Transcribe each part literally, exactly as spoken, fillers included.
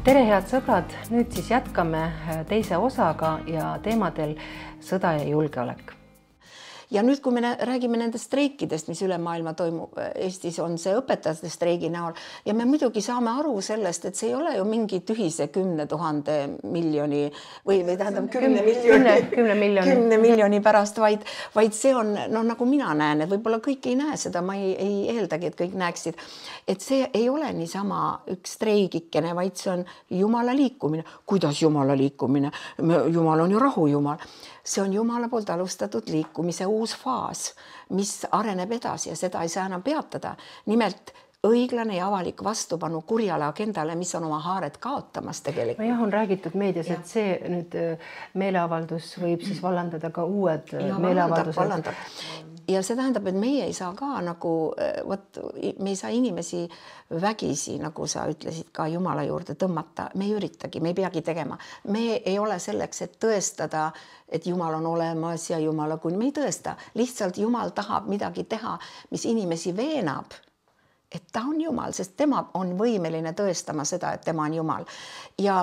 tere, head sõbrad, nüüd siis jätkame teise osaga ja teemadel sõda ja julgeolek. Ja nüüd, kui me räägime nendest streikidest, mis üle maailma toimub, Eestis on see õpetajate streigi näol ja me muidugi saame aru sellest, et see ei ole ju mingi tühise kümne tuhande miljoni või, või tähendab kümne miljoni, kümne miljoni. kümne miljoni pärast, vaid, vaid see on, no nagu mina näen, et võib-olla kõik ei näe seda, ma ei, ei eeldagi, et kõik näeksid, et see ei ole niisama üks streigikene, vaid see on Jumala liikumine. Kuidas Jumala liikumine? Jumal on ju rahu Jumal. See on Jumala poolt alustatud liikumise uus faas, mis areneb edasi ja seda ei saa enam peatada. Nimelt õiglane ja avalik vastupanu kurjale agendale, mis on oma haared kaotamas tegelikult. Jah, on räägitud meedias, ja. Et see nüüd meeleavaldus võib siis vallandada ka uued ja, meeleavaldused. Vallandab, vallandab. Ja see tähendab, et meie ei saa ka nagu, võt, me ei saa inimesi vägisi, nagu sa ütlesid, ka Jumala juurde tõmmata. Me ei üritagi, me ei peagi tegema. Me ei ole selleks, et tõestada, et Jumal on olemas ja Jumala, kui me ei tõesta. Lihtsalt Jumal tahab midagi teha, mis inimesi veenab, et ta on Jumal, sest tema on võimeline tõestama seda, et tema on Jumal. Ja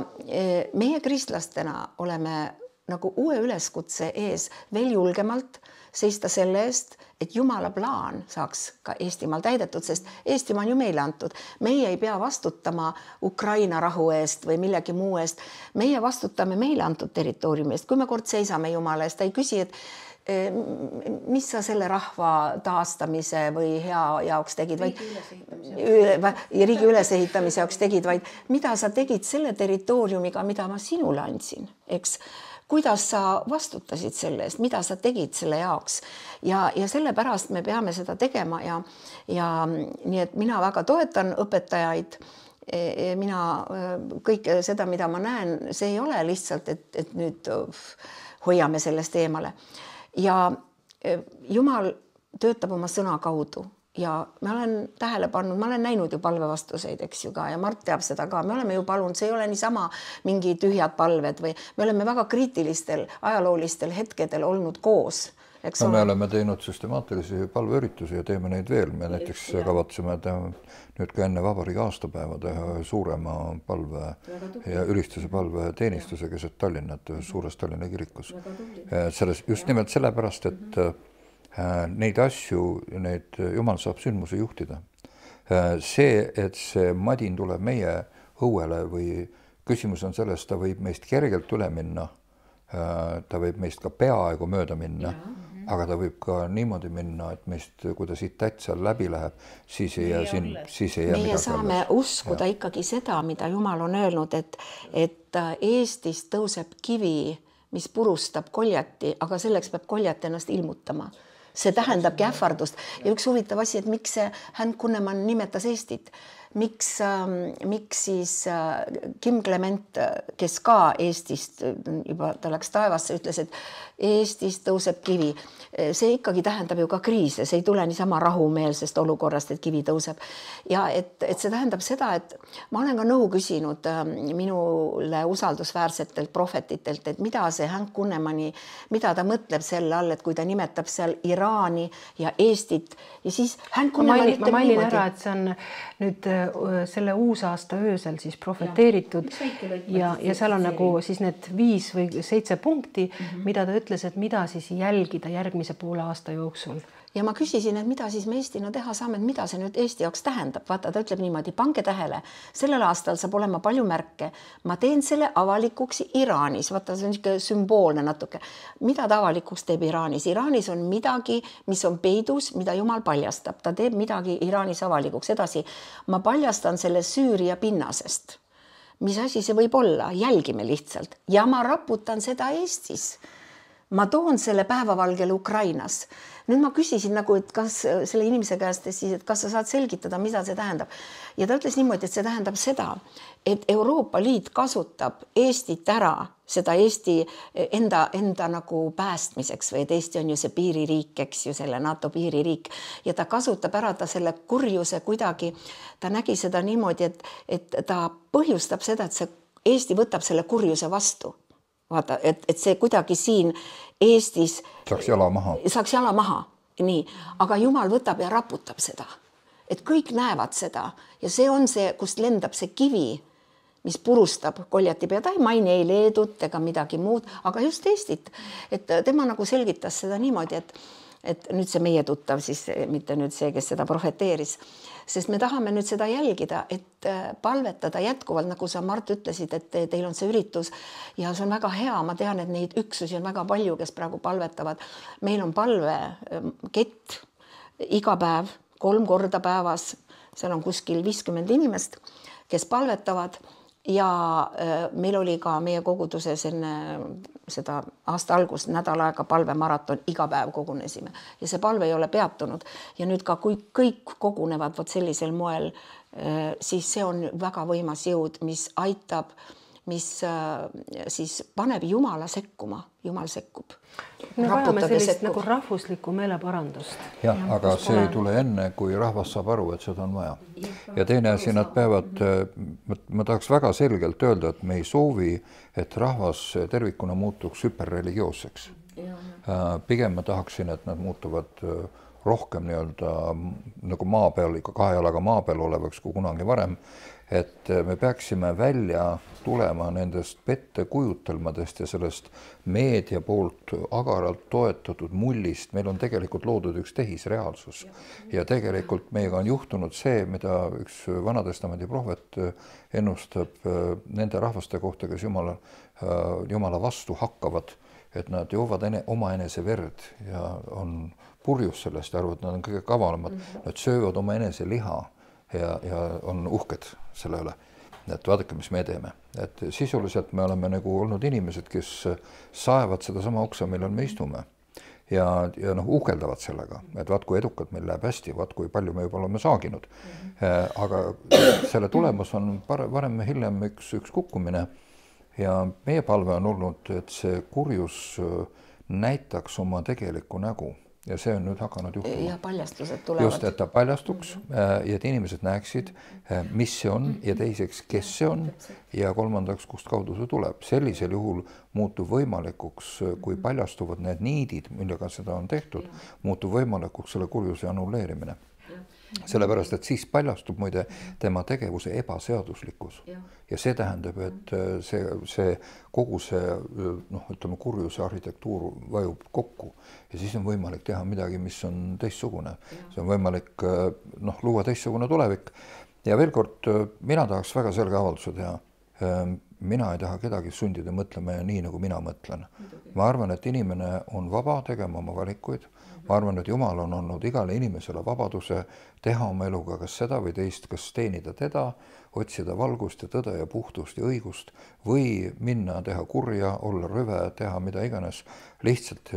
meie kristlastena oleme nagu uue üleskutse ees veel julgemalt seista selle eest, et Jumala plaan saaks ka Eestimaal täidetud, sest Eestimaa on ju meile antud. Meie ei pea vastutama Ukraina rahu eest või millegi muu eest. Meie vastutame meile antud territooriumi eest. Kui me kord seisame Jumala eest, ta ei küsi, et mis sa selle rahva taastamise või hea jaoks tegid, vaid riigi ülesehitamise jaoks tegid, vaid mida sa tegid selle territooriumiga, mida ma sinule andsin, eks? Kuidas sa vastutasid selle eest, mida sa tegid selle jaoks ja, ja selle pärast me peame seda tegema ja, ja nii, et mina väga toetan õpetajaid. Mina kõik seda, mida ma näen, see ei ole lihtsalt, et, et nüüd hoiame sellest eemale. Ja Jumal töötab oma sõna kaudu. Ja ma olen tähele pannud, ma olen näinud ju palvevastuseid, eks ju ka, ja Mart teab seda ka. Me oleme ju palunud, see ei ole niisama mingi tühjad palved või me oleme väga kriitilistel ajaloolistel hetkedel olnud koos. Eks no, me oleme teinud süstemaatilisi palveüritusi ja teeme neid veel. Me näiteks kavatseme teha nüüd ka enne vabariigi aastapäeva teha suurema palve ja ülistuse palve teenistuse keset Tallinnat suures Tallinna kirikus. Selles, just nimelt sellepärast, et neid asju, neid Jumal saab sündmuse juhtida. See, et see madin tuleb meie õuele või küsimus on sellest, ta võib meist kergelt üle minna, ta võib meist ka peaaegu mööda minna, ja, aga ta võib ka niimoodi minna, et meist, kui ta siit täitsal läbi läheb, siis ei jää siin, siis ei jää midagi. Meie saame alles uskuda ja. Ikkagi seda, mida Jumal on öelnud, et, et Eestis tõuseb kivi, mis purustab koljati, aga selleks peab koljat ennast ilmutama. See tähendabki ähvardust. Ja üks huvitav asi, et miks Hän Kunnemann nimetas Eestit. Miks, miks siis Kim Clement, kes ka Eestist, juba ta läks taevasse, ütles, et Eestis tõuseb kivi. See ikkagi tähendab ju ka kriise, see ei tule niisama rahumeelsest olukorrast, et kivi tõuseb. Ja et, et see tähendab seda, et ma olen ka nõu küsinud minule usaldusväärsetelt prohvetitelt, et mida see Hän Kunnemanni, mida ta mõtleb selle all, et kui ta nimetab seal Iraani ja Eestit ja siis Hän Kunnemann ütleb niimoodi. Ma mailin ära, et see on nüüd selle uusaasta öösel siis profeteeritud ja, ja seal on nagu siis need viis või seitse punkti, mm-hmm. mida ta ütles, et mida siis jälgida järgmise poole aasta jooksul. Ja ma küsisin, et mida siis me Eestina teha saame, et mida see nüüd Eesti jaoks tähendab. Vaata, ta ütleb niimoodi, pange tähele, sellel aastal saab olema palju märke. Ma teen selle avalikuks Iraanis. Vaata, see on niisugune sümboolne natuke. Mida ta avalikuks teeb Iraanis? Iraanis on midagi, mis on peidus, mida Jumal paljastab. Ta teeb midagi Iraanis avalikuks. Edasi, ma paljastan selle Süüria pinnasest. Mis asi see võib olla? Jälgime lihtsalt. Ja ma raputan seda Eestis. Ma toon selle päevavalgele Ukrainas. Nüüd ma küsisin nagu, et kas selle inimese käest siis, et kas sa saad selgitada, mida see tähendab. Ja ta ütles niimoodi, et see tähendab seda, et Euroopa Liit kasutab Eestit ära, seda Eesti enda, enda nagu päästmiseks või et Eesti on ju see piiririik, eks ju selle NATO piiririik ja ta kasutab ära ta selle kurjuse kuidagi, ta nägi seda niimoodi, et, et ta põhjustab seda, et see Eesti võtab selle kurjuse vastu. Vaata, et, et see kuidagi siin Eestis saaks jala maha. Saaks jala maha, nii. Aga Jumal võtab ja raputab seda. Et kõik näevad seda ja see on see, kust lendab see kivi, mis purustab Goljati pead, ta ei maini ei Leedut ega midagi muud, aga just Eestit. Et tema nagu selgitas seda niimoodi, et, et nüüd see meie tuttav siis, mitte nüüd see, kes seda profeteeris, sest me tahame nüüd seda jälgida, et palvetada jätkuvalt, nagu sa, Mart, ütlesid, et teil on see üritus ja see on väga hea. Ma tean, et neid üksusi on väga palju, kes praegu palvetavad. Meil on palvekett iga päev, kolm korda päevas, seal on kuskil viiskümmend inimest, kes palvetavad ja meil oli ka meie koguduses enne seda aasta algust nädal aega palvemaraton, iga päev kogunesime ja see palve ei ole peatunud ja nüüd ka kui kõik kogunevad vot sellisel moel, siis see on väga võimas jõud, mis aitab, mis siis paneb Jumala sekkuma, Jumal sekkub. Me vajame sellist nagu rahvuslikku meeleparandust. Jah, aga see ei tule enne, kui rahvas saab aru, et seda on vaja. Ja teine asi, nad peavad, ma tahaks väga selgelt öelda, et me ei soovi, et rahvas tervikuna muutuks hüperreligioosseks. Pigem ma tahaksin, et nad muutuvad rohkem nii-öelda nagu maa peal, ikka kahe jalaga maa peal olevaks kui kunagi varem, et me peaksime välja tulema nendest pettekujutelmadest ja sellest meedia poolt agaralt toetatud mullist. Meil on tegelikult loodud üks tehisreaalsus ja tegelikult meiega on juhtunud see, mida üks Vanatestamendi prohvet ennustab nende rahvaste kohta, kes Jumala, Jumala vastu hakkavad, et nad joovad ene, oma enese verd ja on purjus sellest ja arvavad, et nad on kõige kavalamad. Nad söövad oma enese liha ja, ja on uhked selle üle. Et vaadake, mis me teeme. Et sisuliselt me oleme nagu olnud inimesed, kes saevad seda sama oksa, millal me istume. Ja, ja noh, uhkeldavad sellega, et vaat kui edukalt meil läheb hästi, vaat kui palju me juba oleme saaginud. Aga selle tulemus on varem ja hiljem üks, üks kukkumine. Ja meie palve on olnud, et see kurjus näitaks oma tegelikku nägu. Ja see on nüüd hakanud juhtuma. Ja paljastused tulevad. Just, et ta paljastuks ja et inimesed näeksid, mis see on ja teiseks, kes see on ja kolmandaks, kust kaudu see tuleb. Sellisel juhul muutub võimalikuks, kui paljastuvad need niidid, millega seda on tehtud, muutub võimalikuks selle kurjuse annulleerimine. Sellepärast, et siis paljastub muide tema tegevuse ebaseaduslikkus. Ja see tähendab, et see, see kogu see noh, ütleme, kurjuse arhitektuur vajub kokku ja siis on võimalik teha midagi, mis on teistsugune. See on võimalik noh, luua teistsugune tulevik. Ja veel kord, mina tahaks väga selge avalduse teha. Mina ei taha kedagi sundida mõtlema ja nii, nagu mina mõtlen. Ma arvan, et inimene on vaba tegema oma valikuid. Ma arvan, et Jumal on olnud igale inimesele vabaduse teha oma eluga kas seda või teist, kas teenida teda, otsida valgust ja tõde ja puhtust ja õigust või minna teha kurja, olla rüve, teha mida iganes. Lihtsalt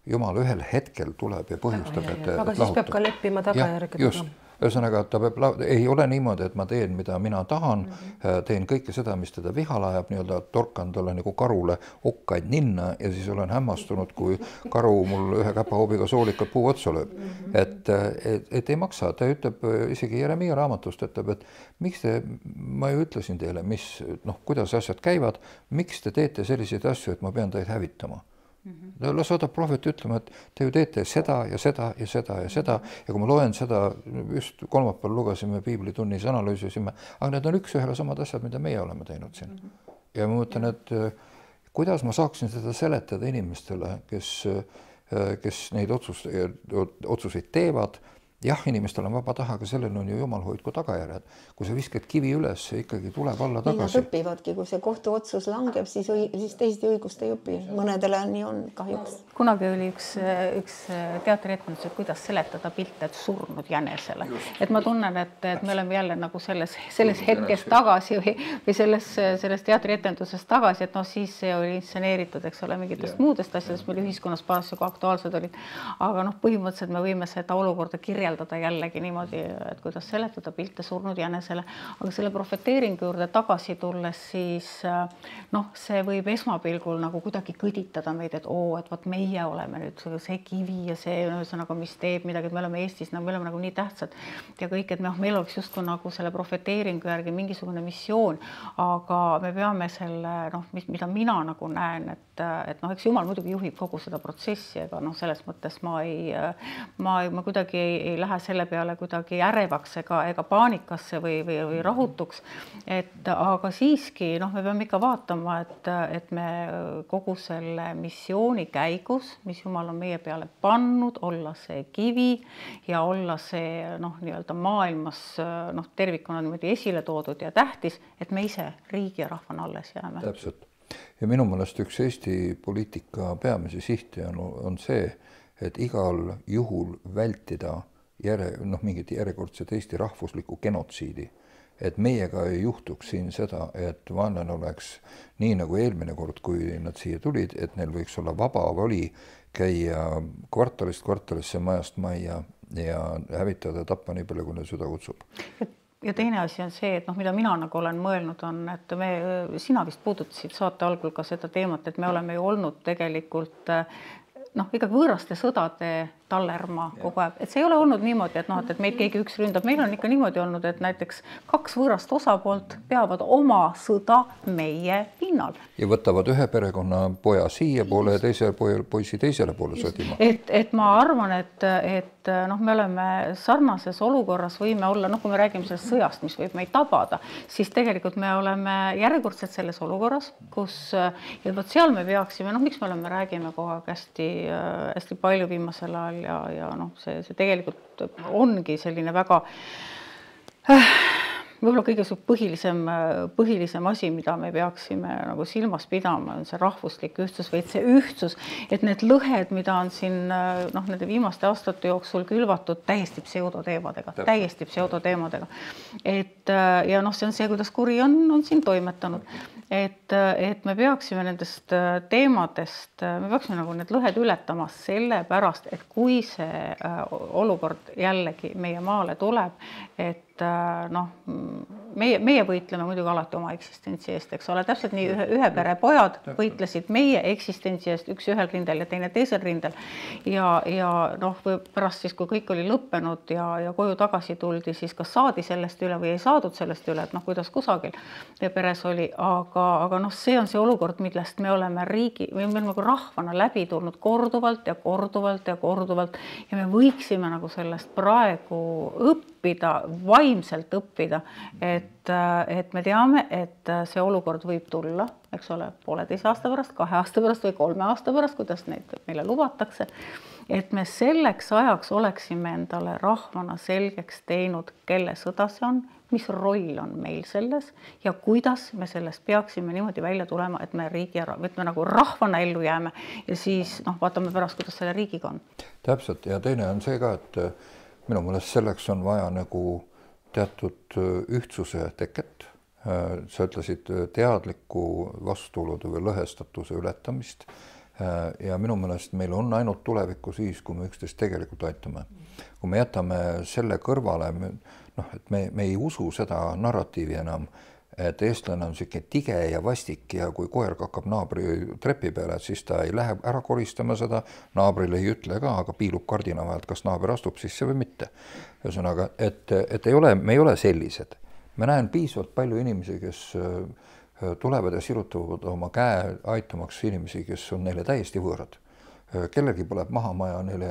Jumal ühel hetkel tuleb ja põhjustab, et aga siis lahutab. Peab ka leppima tagajärgedega. Just. Ühesõnaga, ta peab, ei ole niimoodi, et ma teen, mida mina tahan, teen kõike seda, mis teda vihale ajab, nii-öelda torkan talle nagu karule okkaid ninna ja siis olen hämmastunud, kui karu mul ühe käpahoobiga soolikat puu otsa lööb. Et, et, et ei maksa, ta ütleb isegi Jeremia raamatust, ütleb, et miks te, ma ju ütlesin teile, mis, noh, kuidas asjad käivad, miks te teete selliseid asju, et ma pean teid hävitama. La saadab prohvet ütlema, et te ju teete seda ja seda ja seda ja seda ja kui ma loen seda, just kolmapäeval lugesime piiblitunnis, analüüsisime, aga need on üks ühele samad asjad, mida meie oleme teinud siin. Ja ma mõtlen, et kuidas ma saaksin seda seletada inimestele, kes, kes neid otsust, otsuseid teevad. Jah, inimestel on vaba taha, aga sellel on ju Jumal hoidku tagajärjed. Kui sa viskad kivi üles, see ikkagi tuleb alla tagasi. Nad õpivadki, kui see kohtuotsus langeb, siis, siis teiste õigust ei õpi. Mõnedele nii on kahjuks. Kunagi oli üks, üks teatrietendus, et kuidas seletada pilte surnud jänesele. Et ma tunnen, et, et me oleme jälle nagu selles, selles hetkes tagasi või, või selles, selles teatrietenduses tagasi, et noh, siis see oli inseneeritud, eks ole, mingitest muudest asjadest, meil ühiskonnas parasjagu aktuaalsed olid. Aga noh, põhimõtteliselt me võime seda olukorda kirjeldada jällegi niimoodi, et kuidas seletada pilte surnud jänesele. Aga selle profeteeringu juurde tagasi tulles, siis noh, see võib esmapilgul nagu kuidagi kõditada meid, et oo, et võt meie oleme nüüd see kivi ja see, ühesõnaga, mis teeb midagi, et me oleme Eestis, me oleme nagu nii tähtsad ja kõik, et me, meil oleks justkui nagu selle profeteeringu järgi mingisugune missioon, aga me peame selle, noh, mida mina nagu näen, et, et noh, eks Jumal muidugi juhib kogu seda protsessi, aga noh, selles mõttes ma ei, ma, ma kuidagi ei, ei lähe selle peale kuidagi ärevaks ega, ega paanikasse või, või, või rahutuks. Et aga siiski noh, me peame ikka vaatama, et, et me kogu selle missiooni käigus, mis Jumal on meie peale pannud, olla see kivi ja olla see noh, nii-öelda maailmas noh, tervikuna niimoodi esile toodud ja tähtis, et me ise riigi ja rahvana alles jääme. Täpselt. Ja minu mõnest üks Eesti poliitika peamisi sihti on, on see, et igal juhul vältida järe, noh, mingit järjekordset Eesti rahvuslikku genotsiidi. Et meiega ei juhtuks siin seda, et vaenlane oleks nii nagu eelmine kord, kui nad siia tulid, et neil võiks olla vaba voli käia kvartalist kvartalisse, majast majja ja hävitada ja tappa nii palju, kui neil süda kutsub. Ja teine asi on see, et noh, mida mina nagu olen mõelnud on, et me, sina vist puudutasid saate algul ka seda teemat, et me oleme ju olnud tegelikult noh, ikkagi võõraste sõdade tallerma kogu aeg. Et see ei ole olnud niimoodi, et noh, et meid keegi üks ründab. Meil on ikka niimoodi olnud, et näiteks kaks võõrast osapoolt peavad oma sõda meie pinnal. Ja võtavad ühe perekonna poja siia poole ja teise poisi teisele poole sõdima. Et, et ma arvan, et, et noh, me oleme sarnases olukorras, võime olla, noh, kui me räägime sellest sõjast, mis võib meid tabada, siis tegelikult me oleme järjekordselt selles olukorras, kus ja võt seal me peaksime, noh, miks me oleme, räägime kogu aeg hästi, hästi palju viimasel ajal ja, ja noh, see, see tegelikult ongi selline väga äh, võib-olla kõige põhilisem, põhilisem asi, mida me peaksime nagu silmas pidama, on see rahvuslik ühtsus või see ühtsus, et need lõhed, mida on siin noh, nende viimaste aastate jooksul külvatud täiesti pseudoteemadega, täiesti pseudoteemadega. Et ja noh, see on see, kuidas kuri on, on siin toimetanud. Et, et me peaksime nendest teemadest, me peaksime nagu need lõhed ületama selle pärast, et kui see olukord jällegi meie maale tuleb, et noh, meie, meie võitleme muidugi alati oma eksistentsi eest, eks ole, täpselt nii ühe, ühe pere pojad võitlesid meie eksistentsi eest, üks ühel rindel ja teine teisel rindel. Ja, ja noh, pärast siis, kui kõik oli lõppenud ja, ja koju tagasi tuldi, siis kas saadi sellest üle või ei saadud sellest üle, et noh, kuidas kusagil peres oli, aga, aga noh, see on see olukord, millest me oleme riigi, me oleme nagu rahvana läbi tulnud korduvalt ja korduvalt ja korduvalt ja me võiksime nagu sellest praegu õppida, vaimselt õppida, et, et me teame, et see olukord võib tulla, eks ole, pooleteise aasta pärast, kahe aasta pärast või kolme aasta pärast, kuidas neid meile lubatakse, et me selleks ajaks oleksime endale rahvana selgeks teinud, kelle sõda see on, mis roll on meil selles ja kuidas me sellest peaksime niimoodi välja tulema, et me riigi ära, et me nagu rahvana ellu jääme ja siis noh, vaatame pärast, kuidas selle riigiga on. Täpselt ja teine on see ka, et minu mõelest selleks on vaja nagu teatud ühtsuse teket. Sa ütlesid teadliku vastuolude või lõhestatuse ületamist ja minu mõelest meil on ainult tulevikku siis, kui me üksteist tegelikult aitame. Kui me jätame selle kõrvale, noh, et me, me ei usu seda narratiivi enam, et eestlane on siuke tige ja vastik ja kui koer kakkab naabri trepi peale, et siis ta ei lähe ära koristama seda, naabrile ei ütle ka, aga piilub kardina vahelt, kas naaber astub sisse või mitte. Ühesõnaga, et, et ei ole, me ei ole sellised. Me näen piisavalt palju inimesi, kes tulevad ja sirutavad oma käe aitamaks inimesi, kes on neile täiesti võõrad. Kellelgi põleb maha maja, neile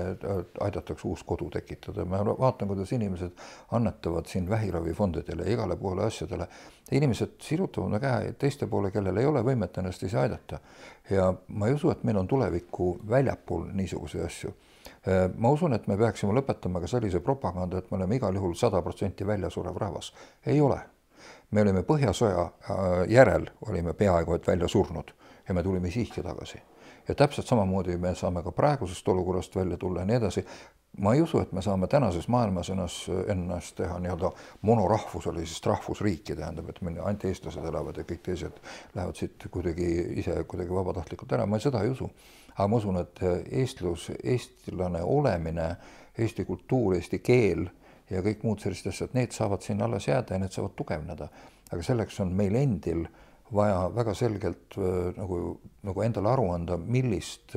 aidatakse uus kodu tekitada. Ma vaatan, kuidas inimesed annetavad siin vähiravifondidele ja igale poole asjadele. Inimesed sirutavad käe teiste poole, kellel ei ole võimet ennast ise aidata. Ja ma ei usu, et meil on tulevikku väljapool niisuguse asju. Ma usun, et me peaksime lõpetama ka sellise propaganda, et me oleme igal juhul sada protsenti väljasurev rahvas. Ei ole. Me olime Põhjasõja järel, olime peaaegu et välja surnud ja me tulime siiski tagasi. Ja täpselt samamoodi me saame ka praegusest olukorrast välja tulla ja nii edasi. Ma ei usu, et me saame tänases maailmas ennast, ennast teha nii-öelda monorahvuselisest rahvusriiki, tähendab, et meil ainult eestlased elavad ja kõik teised lähevad siit kuidagi ise kuidagi vabatahtlikult ära. Ma seda ei usu. Aga ma usun, et eestlus, eestlane olemine, eesti kultuur, eesti keel ja kõik muud sellist asjad, need saavad siin alles jääda ja need saavad tugevneda. Aga selleks on meil endil vaja väga selgelt nagu, nagu endale aru anda, millist,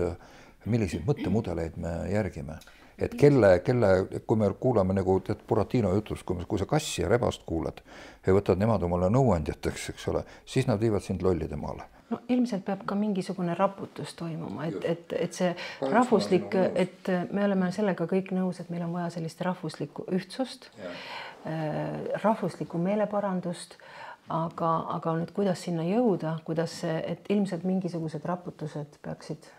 milliseid mõttemudeleid me järgime. Et kelle, kelle, kui me kuulame nagu tead Buratino jutust, kui, kui sa kassi ja rebast kuulad ja võtad nemad omale nõuandjateks, eks ole, siis nad viivad sind lollide maale. no ilmselt peab ka mingisugune raputus toimuma, et, et, et see rahvuslik, et me oleme sellega kõik nõus, et meil on vaja sellist rahvuslikku ühtsust, rahvuslikku meeleparandust, aga, aga nüüd kuidas sinna jõuda, kuidas see, et ilmselt mingisugused raputused peaksid.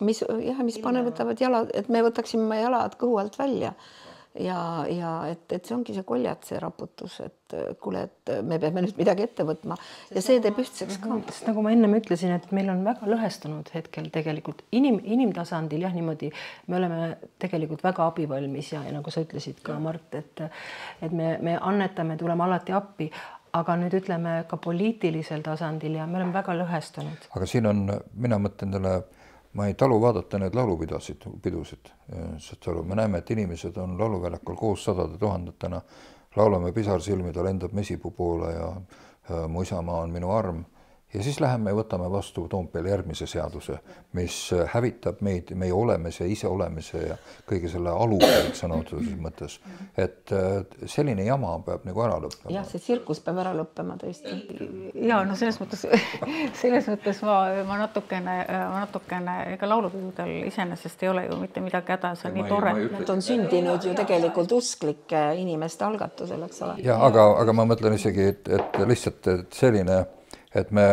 Mis, jah, mis panevõtavad jalad, et me võtaksime jalad kõhu alt välja ja, ja et, et see ongi see koljat, see raputus, et kuule, et me peame nüüd midagi ette võtma ja see teeb ühtseks ka. Sest nagu ma ennem ütlesin, et meil on väga lõhestunud hetkel tegelikult inim, inimtasandil, jah, niimoodi me oleme tegelikult väga abivalmis ja, ja nagu sa ütlesid ka, Mart, et, et me, me annetame, tuleme alati appi, aga nüüd ütleme ka poliitilisel tasandil ja me oleme väga lõhestunud. Aga siin on, mina mõtlen talle, ma ei talu vaadata need laulupidasid, pidusid, sest me näeme, et inimesed on lauluväljakul koos sadade tuhandetena, laulame pisarsilmi, ta lendab mesipuu poole ja, ja mu isamaa on minu arm. Ja siis läheme ja võtame vastu Toompeal järgmise seaduse, mis hävitab meid, meie olemise, ise olemise ja kõige selle alupealt sõna otseses mõttes. Et selline jama peab nagu ära lõppema. Jah, see tsirkus peab ära lõppema tõesti. Ja, no selles mõttes, selles mõttes ma, ma natukene, ma natukene, ega laulupidudel iseenesest ei ole ju mitte midagi häda, see on nii tore. Nad on sündinud ju tegelikult usklike inimeste algatusel, eks ole. Ja, aga, aga ma mõtlen isegi, et, et lihtsalt et selline et me,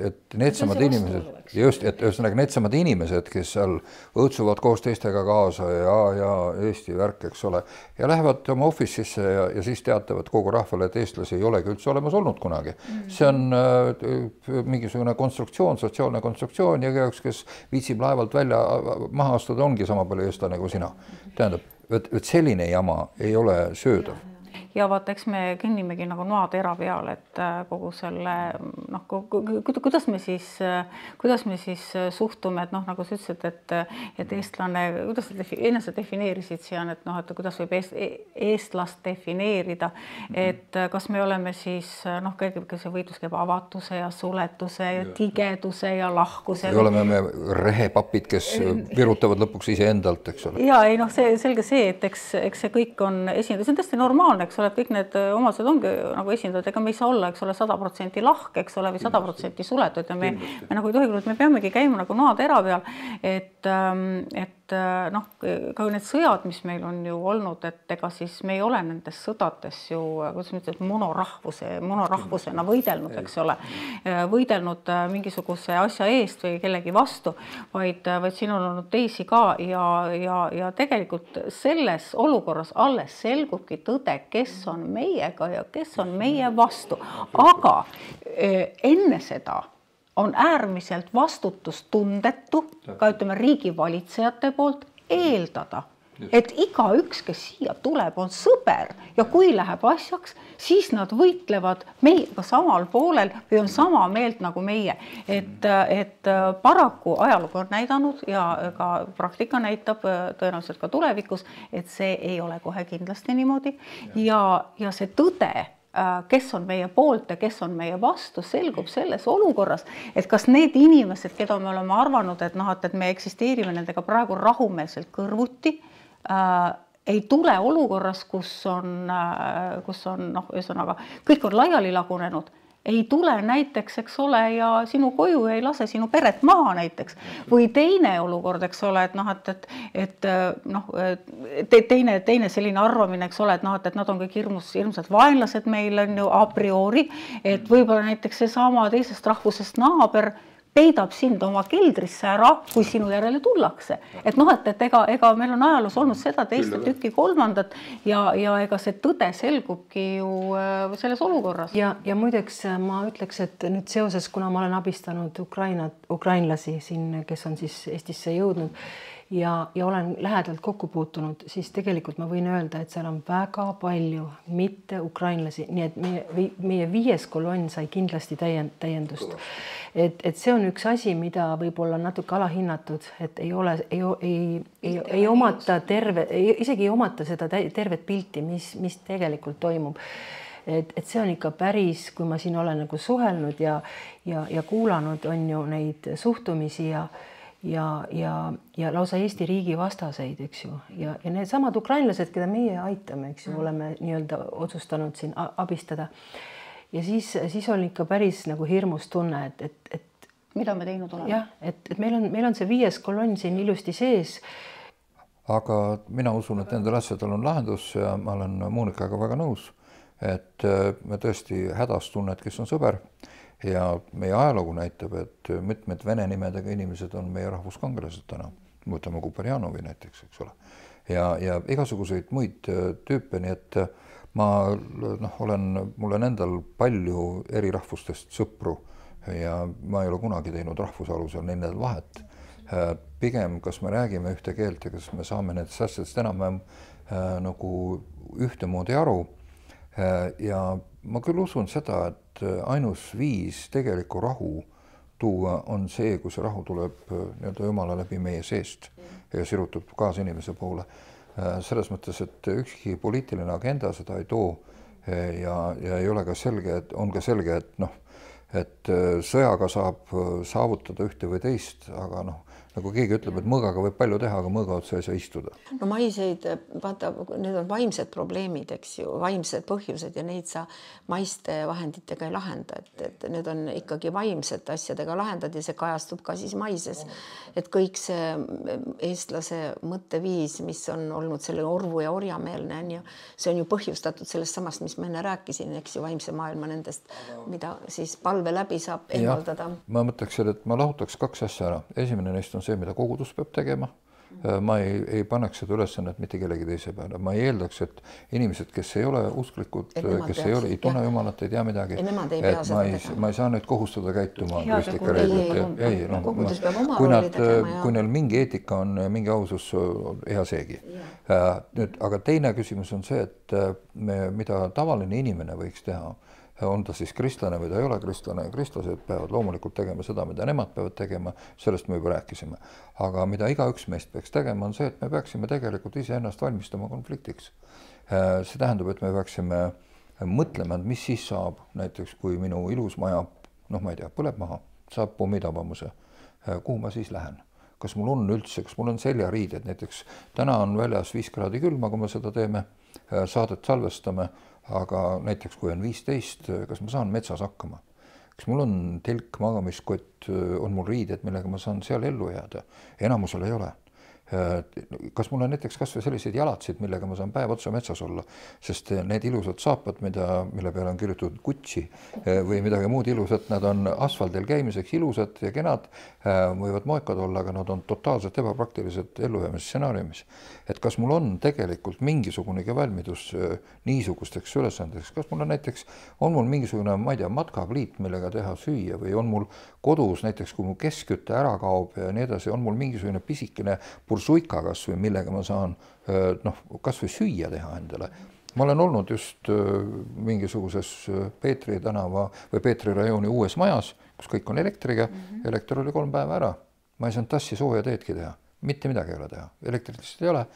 et needsamad inimesed, just, et ühesõnaga needsamad inimesed, kes seal õõtsuvad koos teistega kaasa ja, ja Eesti värk, eks ole, ja lähevad oma office'isse ja, ja siis teatavad kogu rahvale, et eestlasi ei olegi üldse olemas olnud kunagi. See on äh, mingisugune konstruktsioon, sotsiaalne konstruktsioon ja üks, kes viitsib laevalt välja maha astuda, ongi sama palju eestlane kui sina. Tähendab, et, et selline jama ei ole söödav. Ja vaata, eks me kõnnimegi nagu noatera peal, et kogu selle, noh, kuidas me siis, kuidas me siis suhtume, et noh, nagu sa ütlesid, et, et eestlane, kuidas sa ennast defineerisid sian, et noh, et kuidas võib eest, eestlast defineerida, et kas me oleme siis, noh, kõigepealt see võitlus käib avatuse ja suletuse ja tigeduse ja lahkuse. Ja oleme me rehepapid, kes virutavad lõpuks ise endalt, eks ole. Ja ei, noh, see selge see, et eks, eks see kõik on esindatud, see on tõesti normaalne, eks ole, et kõik need omadused ongi nagu esindajad, ega me ei saa olla, eks ole, sada protsenti lahke, eks ole, või sada protsenti suletud ja me, me nagu ei tohi, me peamegi käima nagu noatera peal, et, et noh, ka need sõjad, mis meil on ju olnud, et ega siis me ei ole nendes sõdades ju, kuidas me ütleme, monorahvuse, monorahvusena võidelnud, eks ole, võidelnud mingisuguse asja eest või kellegi vastu, vaid, vaid siin on olnud teisi ka ja, ja, ja tegelikult selles olukorras alles selgubki tõde, kes on meiega ja kes on meie vastu, aga enne seda on äärmiselt vastutustundetu, ka ütleme riigivalitsejate poolt eeldada, et iga üks, kes siia tuleb, on sõber ja kui läheb asjaks, siis nad võitlevad meiega samal poolel või on sama meelt nagu meie. Et, et paraku ajalugu on näidanud ja ka praktika näitab tõenäoliselt ka tulevikus, et see ei ole kohe kindlasti niimoodi ja, ja see tõde, kes on meie poolt ja kes on meie vastu, selgub selles olukorras, et kas need inimesed, keda me oleme arvanud, et, noh, et me eksisteerime nendega praegu rahumeelselt kõrvuti, äh, ei tule olukorras, kus on, äh, kus on noh, ühesõnaga, kõik on laiali lagunenud, ei tule näiteks, eks ole, ja sinu koju ei lase sinu peret maha näiteks. Või teine olukord, eks ole, et noh, et, et, et noh, te, teine, teine selline arvamine, eks ole, et noh, et, et nad on kõik hirmus, hirmsad vaenlased meil on ju a priori, et võib-olla näiteks see sama teisest rahvusest naaber peidab sind oma keldrisse ära, kui sinu järele tullakse. Et noh, et, et ega, ega meil on ajaloos olnud seda teist tükki kolmandat ja, ja ega see tõde selgubki ju selles olukorras. Ja, ja muideks ma ütleks, et nüüd seoses, kuna ma olen abistanud Ukraina, ukrainlasi siin, kes on siis Eestisse jõudnud ja, ja olen lähedalt kokku puutunud, siis tegelikult ma võin öelda, et seal on väga palju mitte ukrainlasi, nii et meie, meie viies kolonn sai kindlasti täiendust. Et, et see on üks asi, mida võib-olla natuke alahinnatud, et ei ole, ei, ei, ei, ei omata terve, isegi ei omata seda tervet pilti, mis, mis tegelikult toimub. Et, et see on ikka päris, kui ma siin olen nagu suhelnud ja, ja, ja kuulanud, on ju neid suhtumisi ja ja, ja, ja lausa Eesti riigi vastaseid, eks ju. Ja, ja need samad ukrainlased, keda meie aitame, eks ju, oleme nii-öelda otsustanud siin abistada. Ja siis, siis oli ikka päris nagu hirmus tunne, et, et, et mida me teinud oleme. jah, et, et meil on, meil on see viies kolonn siin ilusti sees. Aga mina usun, et nendel asjadel on lahendus ja ma olen Monikaga väga nõus, et me tõesti hädas tunned, kes on sõber ja meie ajalugu näitab, et mitmed vene nimedega inimesed on meie rahvuskangelased täna. Võtame Kuperjanovi näiteks, eks ole. Ja, ja igasuguseid muid tüüpe, nii et ma noh, olen, mul on endal palju eri rahvustest sõpru ja ma ei ole kunagi teinud rahvusalusel nendel vahet. Pigem, kas me räägime ühte keelt ja kas me saame nendest asjadest enam-vähem nagu ühtemoodi aru. Ja ma küll usun seda, et ainus viis tegeliku rahu tuua on see, kui see rahu tuleb nii-öelda Jumala läbi meie seest ja sirutub kaasa inimese poole. Selles mõttes, et ükski poliitiline agenda seda ei too ja, ja ei ole ka selge, et on ka selge, et noh, et sõjaga saab saavutada ühte või teist, aga noh, nagu keegi ütleb, et mõõgaga võib palju teha, aga mõõga otsa ei saa istuda. No maiseid, vaata, need on vaimsed probleemid, eks ju, vaimsed põhjused ja neid sa maiste vahenditega ei lahenda, et, et need on ikkagi vaimsed asjadega lahendad ja see kajastub ka siis maises. Et kõik see eestlase mõtteviis, mis on olnud selle orvu ja orjameelne, on ju, see on ju põhjustatud sellest samast, mis ma enne rääkisin, eks ju, vaimse maailma nendest, mida siis palve läbi saab eemaldada. Ma mõtleks, et ma lahutaks kaks asja ära. Esimene neist on see, mida kogudus peab tegema. Ma ei, ei paneks seda ülesannet mitte kellegi teise peale. Ma ei eeldaks, et inimesed, kes ei ole usklikud, kes ei ole, ei tunne Jumalat, ei tea midagi, ei, ei et ma ei, ma ei saa nüüd kohustada käituma kristlike reeglite. Ei, no, kui, nad, kui neil mingi eetika on, mingi ausus, hea seegi. Nüüd, aga teine küsimus on see, et me, mida tavaline inimene võiks teha, on ta siis kristlane või ta ei ole kristlane, kristlased peavad loomulikult tegema seda, mida nemad peavad tegema, sellest me juba rääkisime. Aga mida igaüks meist peaks tegema, on see, et me peaksime tegelikult ise ennast valmistama konfliktiks. See tähendab, et me peaksime mõtlema, mis siis saab, näiteks kui minu ilus maja, noh ma ei tea, põleb maha, saab pommitabamuse, kuhu ma siis lähen? Kas mul on üldse, kas mul on seljariided, näiteks täna on väljas viis kraadi külma, kui me seda teeme, saadet salvestame, aga näiteks kui on viisteist, kas ma saan metsas hakkama? Kas mul on telk, magamiskott, on mul riided, millega ma saan seal ellu jääda? Enamusel ei ole. Kas mul on näiteks kas või selliseid jalatsid, millega ma saan päev otsa metsas olla, sest need ilusad saapad, mida, mille peale on kirjutatud Gucci või midagi muud ilusat, nad on asfaldil käimiseks ilusad ja kenad, võivad moekad olla, aga nad on totaalselt ebapraktilised ellujäämise stsenaariumis. Et kas mul on tegelikult mingisugunegi valmidus niisugusteks ülesandeks, kas mul on näiteks, on mul mingisugune, ma ei tea, matkapliit, millega teha süüa või on mul kodus näiteks, kui mu keskkütte ära kaob ja nii edasi, on mul mingisugune pisikene suika kas või millega ma saan noh, kas või süüa teha endale. Ma olen olnud just mingisuguses Peetri tänava või Peetri rajooni uues majas, kus kõik on elektriga. Mm-hmm. Elekter oli kolm päeva ära. Ma ei saanud tassi sooja teedki teha. Mitte midagi ei ole teha. Elektrit lihtsalt ei ole.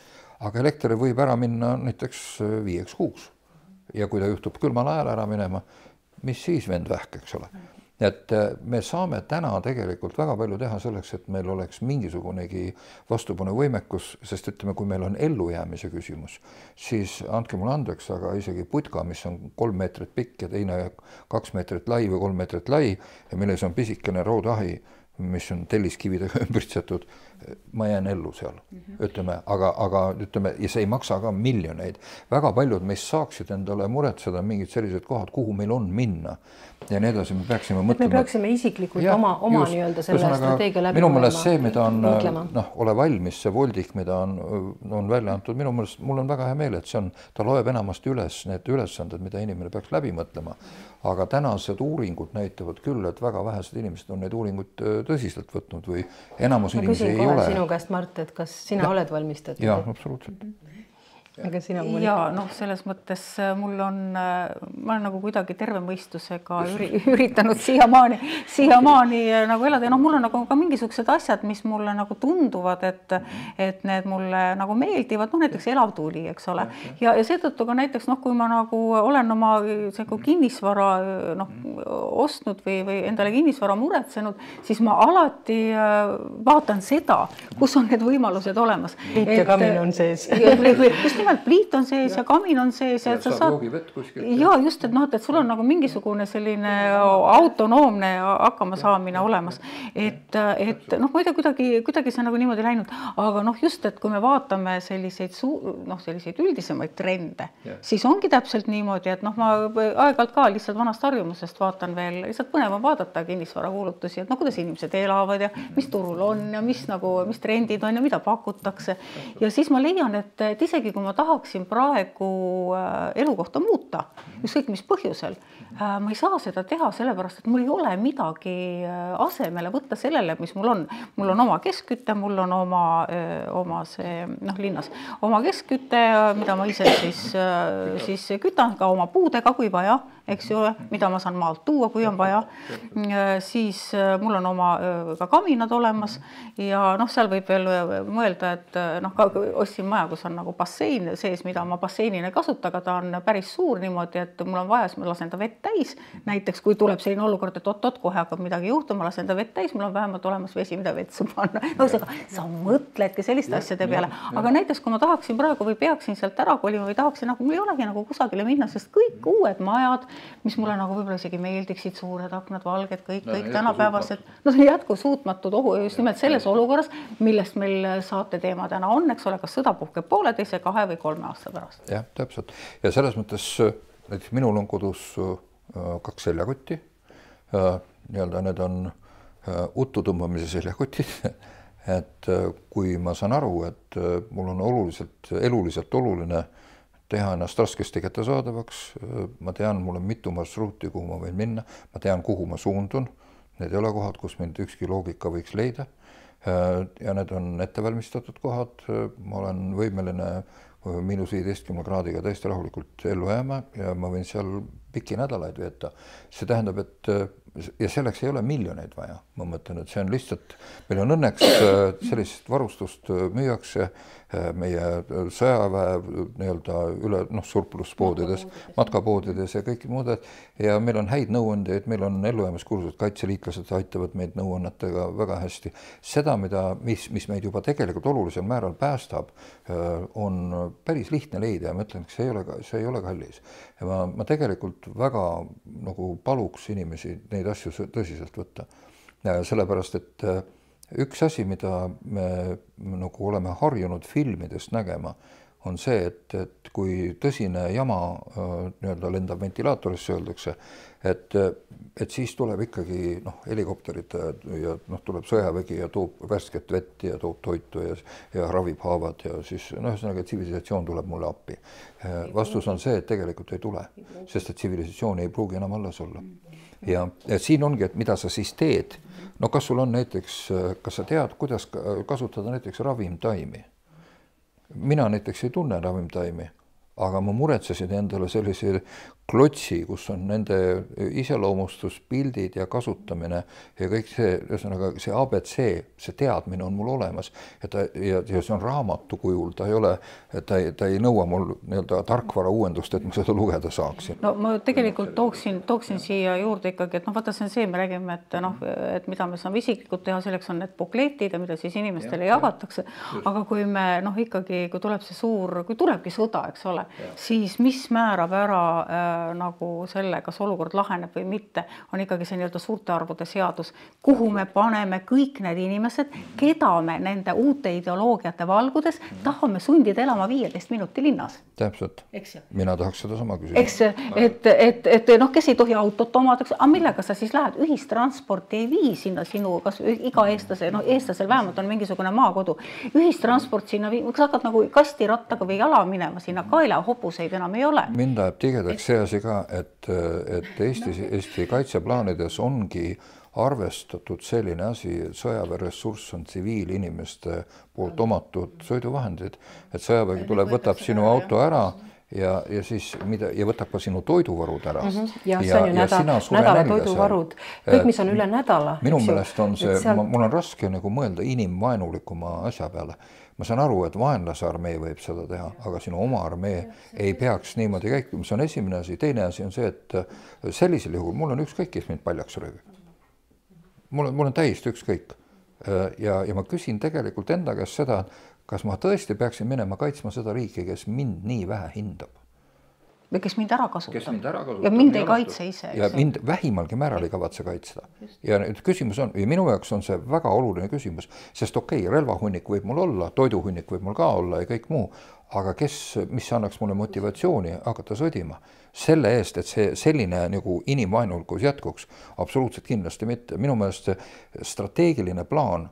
Aga elekter võib ära minna näiteks viieks kuuks. Ja kui ta juhtub külmal ajal ära minema, mis siis vend vähk, eks ole. Et me saame täna tegelikult väga palju teha selleks, et meil oleks mingisugunegi vastupanu võimekus, sest ütleme, kui meil on ellujäämise küsimus, siis andke mulle andeks, aga isegi putka, mis on kolm meetrit pikk ja teine kaks meetrit lai või kolm meetrit lai ja milles on pisikene roodahi, mis on telliskividega ümbritsetud, ma jään ellu seal, mm-hmm. ütleme, aga, aga ütleme, ja see ei maksa ka miljoneid. Väga paljud meist saaksid endale muretseda mingid sellised kohad, kuhu meil on minna. Ja nii edasi me peaksime mõtlema. Me peaksime isiklikult ja, oma, oma just, nii-öelda selle strateegia läbi. Minu mõelest see, mida on, noh, ole valmis, see voldik, mida on, on välja antud, minu mõelest mul on väga hea meel, et see on, ta loeb enamasti üles need ülesanded, mida inimene peaks läbi mõtlema. Aga tänased uuringud näitavad küll, et väga vähesed inimesed on neid uuringuid tõsiselt võtnud või enamus inimesi ei ole. Ma küsin sinu käest, Mart, et kas sina ja. oled valmistatud? Jaa, absoluutselt. Mm-hmm. Aga sina ja noh, selles mõttes mul on, ma olen nagu kuidagi terve mõistusega üri, üritanud siiamaani, siiamaani nagu elada ja noh, mul on nagu ka mingisugused asjad, mis mulle nagu tunduvad, et, et need mulle nagu meeldivad, noh näiteks elavtuuli, eks ole. Ja, ja seetõttu ka näiteks noh, kui ma nagu olen oma kinnisvara noh, ostnud või, või endale kinnisvara muretsenud, siis ma alati vaatan seda, kus on need võimalused olemas. Liit ja kamin on sees. Just nimelt pliit on sees ja, ja kamin on sees ja, ja et sa saad, ja just, et noh, et sul on nagu mingisugune selline autonoomne hakkama saamine olemas, et, et noh, ma ei tea, kuidagi, kuidagi see nagu niimoodi läinud, aga noh, just, et kui me vaatame selliseid, noh, selliseid üldisemaid trende, ja. Siis ongi täpselt niimoodi, et noh, ma aeg-ajalt ka lihtsalt vanast harjumusest vaatan veel, lihtsalt põnev on vaadata kinnisvarakuulutusi, et noh, kuidas inimesed elavad ja mis turul on ja mis nagu, mis trendid on ja mida pakutakse. Ja siis ma leian, et, et isegi kui ma tahaksin praegu elukohta muuta, ükskõik mis põhjusel, ma ei saa seda teha sellepärast, et mul ei ole midagi asemele võtta sellele, mis mul on. Mul on oma keskküte, mul on oma, oma see, noh, linnas, oma keskküte, mida ma ise siis, siis kütan ka oma puudega, kui vaja, eks ju, mida ma saan maalt tuua, kui on vaja. Siis mul on oma ka kaminad olemas ja noh, seal võib veel mõelda, et noh, ka ostsin maja, kus on nagu bassein sees, mida ma basseinina ei kasuta, aga ta on päris suur niimoodi, et mul on vaja, siis ma lasen ta vett täis. Näiteks, kui tuleb selline olukord, et oot-oot, kohe hakkab midagi juhtuma, lasen ta vett täis, mul on vähemalt olemas vesi, mida vetsu panna. No, sa, sa mõtledki selliste asjade peale. Aga näiteks, kui ma tahaksin praegu või peaksin sealt ära kolima või tahaksin, nagu mul ei olegi nagu kusagile minna, sest kõik uued majad, mis mulle nagu võib-olla isegi meeldiksid, suured aknad, valged, kõik, kõik tänapäevased. No see on jätkusuutmatud ohu just nimelt selles olukorras, millest meil saate teema täna on, eks ole, kas sõda puhkeb pooleteise, kahe või kolme aasta pärast. Jah, täpselt. Ja selles mõttes, näiteks minul on kodus kaks seljakotti. Nii-öelda need on uttu tõmbamise seljakotid. Et kui ma saan aru, et mul on oluliselt, eluliselt oluline teha ennast raskesti kättesaadavaks, ma tean, mul on mitu marsruuti, kuhu ma võin minna, ma tean, kuhu ma suundun, need ei ole kohad, kus mind ükski loogika võiks leida ja need on ettevalmistatud kohad, ma olen võimeline miinus viieteistkümne kraadiga täiesti rahulikult ellu jääma ja ma võin seal pikki nädalaid veeta. See tähendab, et ja selleks ei ole miljoneid vaja, ma mõtlen, et see on lihtsalt, meil on õnneks sellist varustust müüakse meie sõjaväe nii-öelda üle noh, surpluspoodides, matkapoodides ja kõik muud ja meil on häid nõuandeid, meil on ellujäämiskursused, kaitseliitlased aitavad meid nõuannetega väga hästi. Seda, mida, mis, mis meid juba tegelikult olulisel määral päästab, on päris lihtne leida ja ma ütlen, et see ei ole, see ei ole kallis. Ja ma, ma tegelikult väga nagu paluks inimesi neid asju tõsiselt võtta. Ja sellepärast, et üks asi, mida me nagu oleme harjunud filmidest nägema, on see, et, et kui tõsine jama nii-öelda lendab ventilaatorisse, öeldakse, et, et siis tuleb ikkagi noh, helikopterid ja noh, tuleb sõjavägi ja toob värsket vett ja toob toitu ja, ja ravib haavad ja siis noh, ühesõnaga tsivilisatsioon tuleb mulle appi. Vastus on see, et tegelikult ei tule, sest et tsivilisatsioon ei pruugi enam alles olla. Ja, ja siin ongi, et mida sa siis teed. No kas sul on näiteks, kas sa tead, kuidas kasutada näiteks ravimtaimi? Mina näiteks ei tunne ravimtaimi, aga ma muretsesin endale sellise klotsi, kus on nende iseloomustus, pildid ja kasutamine ja kõik see, ühesõnaga see A B C, see teadmine on mul olemas ja, ta, ja, ja see on raamatu kujul, ta ei ole, ta ei, ta ei nõua mul nii-öelda tarkvara uuendust, et ma seda lugeda saaksin. No ma tegelikult tooksin, tooksin siia juurde ikkagi, et noh, vaata see on see, me räägime, et noh, et mida me saame isiklikult teha, selleks on need bukletid ja mida siis inimestele ja, jagatakse, ja. Aga kui me noh, ikkagi, kui tuleb see suur, kui tulebki sõda, eks ole, ja. Siis mis määrab ära äh, nagu selle, kas olukord laheneb või mitte, on ikkagi see nii-öelda suurte arvude seadus, kuhu me paneme kõik need inimesed, keda me nende uute ideoloogiate valgudes tahame sundida elama viieteist minuti linnas. Täpselt. Mina tahaks seda sama küsida. Eks, et, et, et noh, kes ei tohi autot omada, aga millega sa siis lähed? Ühistransporti ei vii sinna sinu, kas iga eestlase, noh eestlasel vähemalt on mingisugune maakodu. Ühistransport sinna vii, kas hakkad nagu kastirattaga või jala minema sinna, kaela hobuseid enam ei ole. Mind läheb tigedaks see asi ka, et, et Eesti, Eesti kaitseplaanides ongi arvestatud selline asi, sõjaväeressurss on tsiviilinimeste poolt omatud sõiduvahendid, et sõjavägi tuleb, võtab sinu auto ära ja, ja siis mida, ja võtab ka sinu toiduvarud ära. Mm -hmm. Ja, ja see on ju nädala, nädala toiduvarud, kõik, mis on üle nädala. Minu meelest on see, seal... mul on raske nagu mõelda inimvaenulikuma asja peale. Ma saan aru, et vaenlase armee võib seda teha, aga sinu oma armee ei peaks niimoodi käikuma. See on esimene asi. Teine asi on see, et sellisel juhul mul on ükskõik, kes mind paljaks röövib. Mul on, mul on täiesti ükskõik. Ja, ja ma küsin tegelikult enda käest seda, kas ma tõesti peaksin minema kaitsma seda riiki, kes mind nii vähe hindab? Või kes mind ära kasutab. Kes mind ära kasutab. Ja mind ei kaitse ise. Ja mind vähimalgi määral ei kavatse kaitsta. Ja nüüd küsimus on, ja minu jaoks on see väga oluline küsimus, sest okei, okay, relvahunnik võib mul olla, toiduhunnik võib mul ka olla ja kõik muu, aga kes, mis annaks mulle motivatsiooni hakata sõdima? Selle eest, et see selline nagu inimvaenulikus jätkuks, absoluutselt kindlasti mitte. Minu meelest strateegiline plaan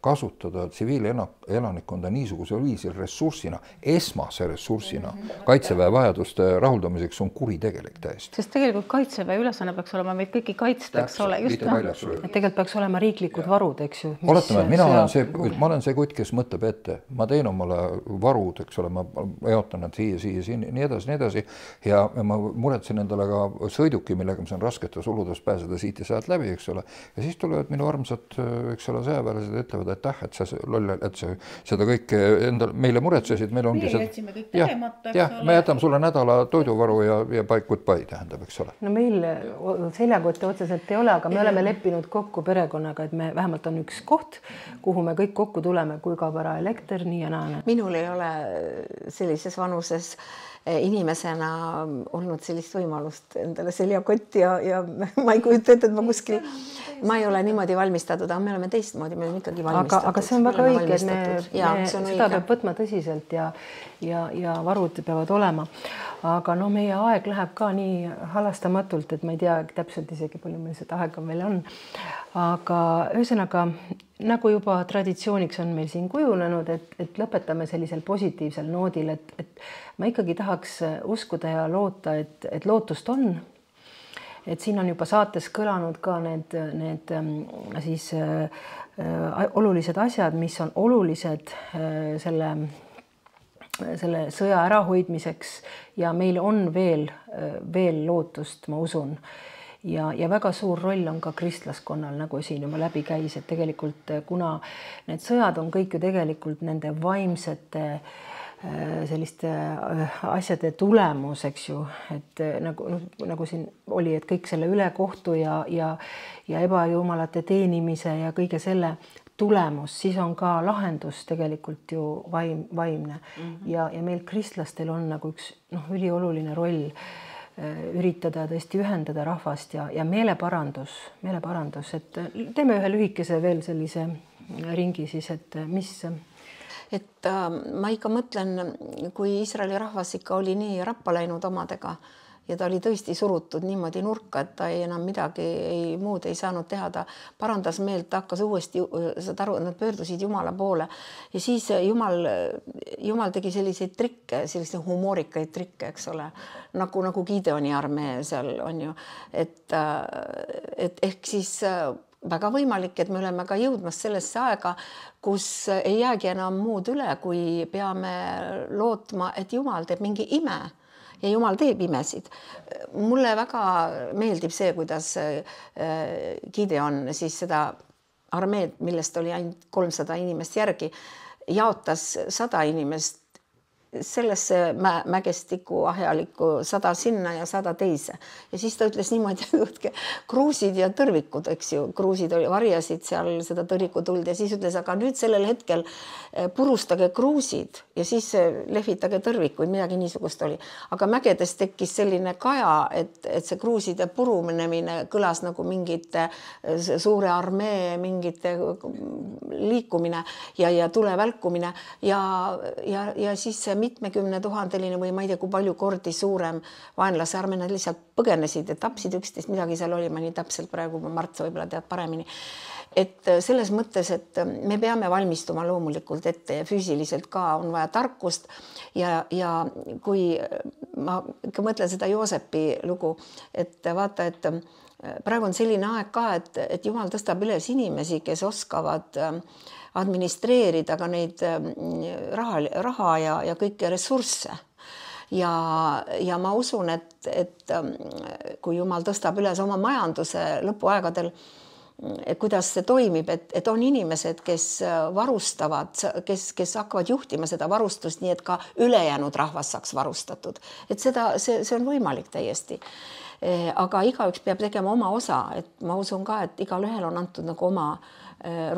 kasutada tsiviilelanikkonda niisugusel viisil ressursina, esmase ressursina kaitseväe vajaduste rahuldamiseks on kuritegelik täiesti. Sest tegelikult kaitseväe ülesanne peaks olema meid kõiki kaitsta, eks ole. Just, et tegelikult peaks olema riiklikud varud, eks ju. Oletame, et mina olen see, ma olen see kutt, kes mõtleb ette. Ma teen omale varud, eks ole, ma jaotan nad siia, siia, siia, nii edasi, nii edasi. Ja ma muretsen endale ka sõiduki, millega ma saan rasketes oludes pääseda siit ja sealt läbi, eks ole. Ja siis tulevad minu armsad, eks ole, sõjaväelased ütlevad, et täh, et sa loll, et sa seda kõike endal, meile muretsesid, meil ongi seda. Jätsime kõik tegemata, eks ole. Me jätame sulle nädala toiduvaru ja, ja paik goodbye tähendab, eks ole. No meil seljakotte otseselt ei ole, aga me oleme leppinud kokku perekonnaga, et me vähemalt on üks koht, kuhu me kõik kokku tuleme, kui kaob ära elekter, nii ja naa. Minul ei ole sellises vanuses inimesena olnud sellist võimalust endale seljakott ja, ja ma ei kujuta ette, et ma kuskil, ma ei ole niimoodi valmistatud, aga me oleme teistmoodi, me oleme ikkagi valmistatud. Aga, aga see on väga õige, et me, ja, me seda õige. Peab võtma tõsiselt ja, ja, ja varud peavad olema. Aga no meie aeg läheb ka nii halastamatult, et ma ei tea täpselt isegi palju meil seda aega meil on. Aga ühesõnaga, nagu juba traditsiooniks on meil siin kujunenud, et, et lõpetame sellisel positiivsel noodil, et, et ma ikkagi tahaks uskuda ja loota, et, et lootust on. Et siin on juba saates kõlanud ka need, need siis äh, olulised asjad, mis on olulised äh, selle, selle sõja ärahoidmiseks ja meil on veel, veel lootust, ma usun. Ja, ja väga suur roll on ka kristlaskonnal, nagu siin juba läbi käis, et tegelikult kuna need sõjad on kõik ju tegelikult nende vaimsete selliste asjade tulemus, eks ju, et nagu, nagu siin oli, et kõik selle ülekohtu ja, ja, ja ebajumalate teenimise ja kõige selle tulemus, siis on ka lahendus tegelikult ju vaim, vaimne. Mm-hmm. ja, ja meil kristlastel on nagu üks noh, ülioluline roll üritada tõesti ühendada rahvast ja, ja meeleparandus, meeleparandus, et teeme ühe lühikese veel sellise ringi siis, et mis... Et äh, ma ikka mõtlen, kui Iisraeli rahvas ikka oli nii rappa läinud omadega ja ta oli tõesti surutud niimoodi nurka, et ta ei enam midagi ei, muud ei saanud teha, ta parandas meelt, ta hakkas uuesti, saad aru, nad pöördusid Jumala poole ja siis Jumal, Jumal tegi selliseid trikke, selliseid humoorikaid trikke, eks ole, nagu, nagu Gideoni armee seal on ju, et, et ehk siis väga võimalik, et me oleme ka jõudmas sellesse aega, kus ei jäägi enam muud üle, kui peame lootma, et Jumal teeb mingi ime ja Jumal teeb imesid. Mulle väga meeldib see, kuidas Gideon siis seda armeed, millest oli ainult kolmsada inimest järgi, jaotas sada inimest sellesse mä mägestiku ahjalikku sada sinna ja sada teise. Ja siis ta ütles niimoodi, et kruusid ja tõrvikud, eks ju, kruusid oli, varjasid seal seda tõrvikutuld ja siis ütles, aga nüüd sellel hetkel purustage kruusid ja siis lehvitage tõrvikuid, midagi niisugust oli. Aga mägedes tekkis selline kaja, et, et see kruuside purunemine kõlas nagu mingite suure armee, mingite liikumine ja, ja tule välkumine ja, ja, ja siis see mitmekümne tuhandeline või ma ei tea, kui palju kordi suurem vaenlase armee, nad lihtsalt põgenesid ja tapsid üksteist, midagi seal oli, ma nii täpselt praegu, Mart, sa võib-olla tead paremini. Et selles mõttes, et me peame valmistuma loomulikult ette ja füüsiliselt ka on vaja tarkust ja, ja kui ma ikka mõtlen seda Joosepi lugu, et vaata, et praegu on selline aeg ka, et, et Jumal tõstab üles inimesi, kes oskavad administreerida ka neid raha, raha ja, ja kõiki ressursse. Ja, ja ma usun, et, et kui Jumal tõstab üles oma majanduse lõpuaegadel, et kuidas see toimib, et, et on inimesed, kes varustavad, kes, kes hakkavad juhtima seda varustust, nii et ka ülejäänud rahvas saaks varustatud. Et seda, see, see on võimalik täiesti. Aga igaüks peab tegema oma osa, et ma usun ka, et igal ühel on antud nagu oma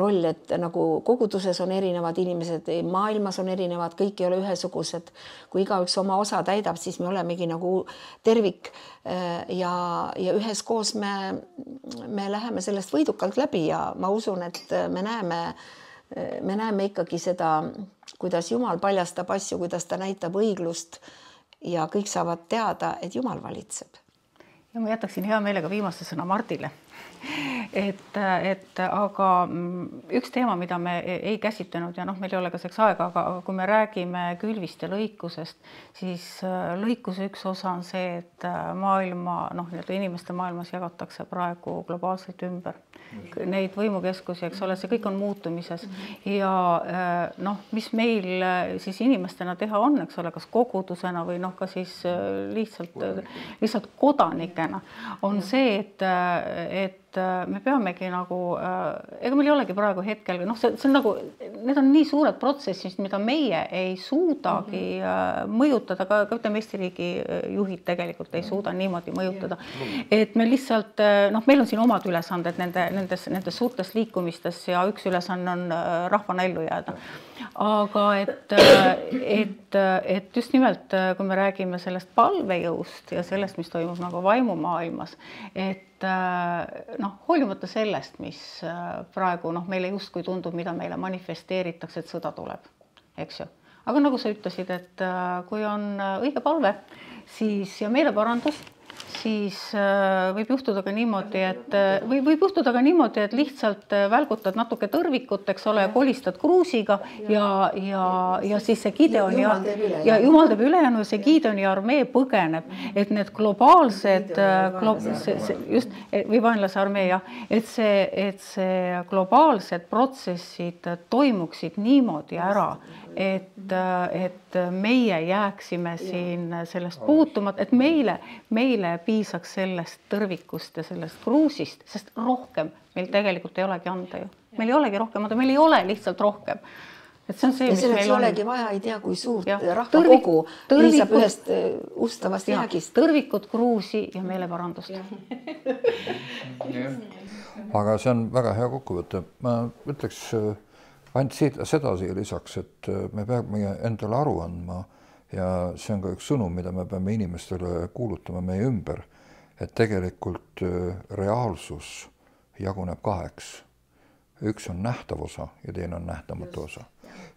roll, et nagu koguduses on erinevad inimesed, maailmas on erinevad, kõik ei ole ühesugused. Kui igaüks oma osa täidab, siis me olemegi nagu tervik ja, ja üheskoos me, me läheme sellest võidukalt läbi ja ma usun, et me näeme, me näeme ikkagi seda, kuidas Jumal paljastab asju, kuidas ta näitab õiglust ja kõik saavad teada, et Jumal valitseb. Ja ma jätaksin hea meelega viimase sõna Mardile. Et, et aga üks teema, mida me ei käsitlenud ja noh, meil ei ole ka seks aega, aga kui me räägime külvist ja lõikusest, siis lõikuse üks osa on see, et maailma, noh, inimeste maailmas jagatakse praegu globaalselt ümber. Neid võimukeskusi, eks ole, see kõik on muutumises ja noh, mis meil siis inimestena teha on, eks ole, kas kogudusena või noh, ka siis lihtsalt, lihtsalt kodanikena on see, et, et me peamegi nagu, ega meil ei olegi praegu hetkel, noh, see, see on nagu, need on nii suured protsessid, mida meie ei suudagi mm-hmm. mõjutada, ka, ka ütleme Eesti riigi juhid tegelikult ei suuda niimoodi mõjutada. Et me lihtsalt, noh, meil on siin omad ülesanded nende, nendes, nendes suurtes liikumistes ja üks ülesanne on rahvana ellu jääda. Aga et, et, et just nimelt, kui me räägime sellest palvejõust ja sellest, mis toimub nagu vaimumaailmas, et noh, hoolimata sellest, mis praegu noh, meile justkui tundub, mida meile manifesteeritakse, et sõda tuleb, eks ju. Aga nagu sa ütlesid, et kui on õige palve, siis ja meeleparandus, siis võib juhtuda ka niimoodi, et või võib juhtuda ka niimoodi, et lihtsalt välgutad natuke tõrvikut, eks ole, kolistad kruusiga ja, ja, ja siis see Gideoni ja, ja Jumal teeb ülejäänu ja see Gideoni armee põgeneb, et need globaalsed glo, see, see, just, või vaenlase armee, jah, et see, et see globaalsed protsessid toimuksid niimoodi ära, et, et meie jääksime siin sellest puutumat, et meile, meile piisaks sellest tõrvikust ja sellest kruusist, sest rohkem meil tegelikult ei olegi anda ju. Meil ei olegi rohkem anda, meil ei ole lihtsalt rohkem. Et see on see, mis meil on. Olegi vaja, ei tea, kui suurt rahvakogu piisab ühest ustavast jäägist. Tõrvikud, kruusi ja meeleparandust. Aga see on väga hea kokkuvõte. Ma ütleks ainult seda siia lisaks, et me peame endale aru andma ja see on ka üks sõnum, mida me peame inimestele kuulutama meie ümber, et tegelikult reaalsus jaguneb kaheks. Üks on nähtav osa ja teine on nähtamatu osa.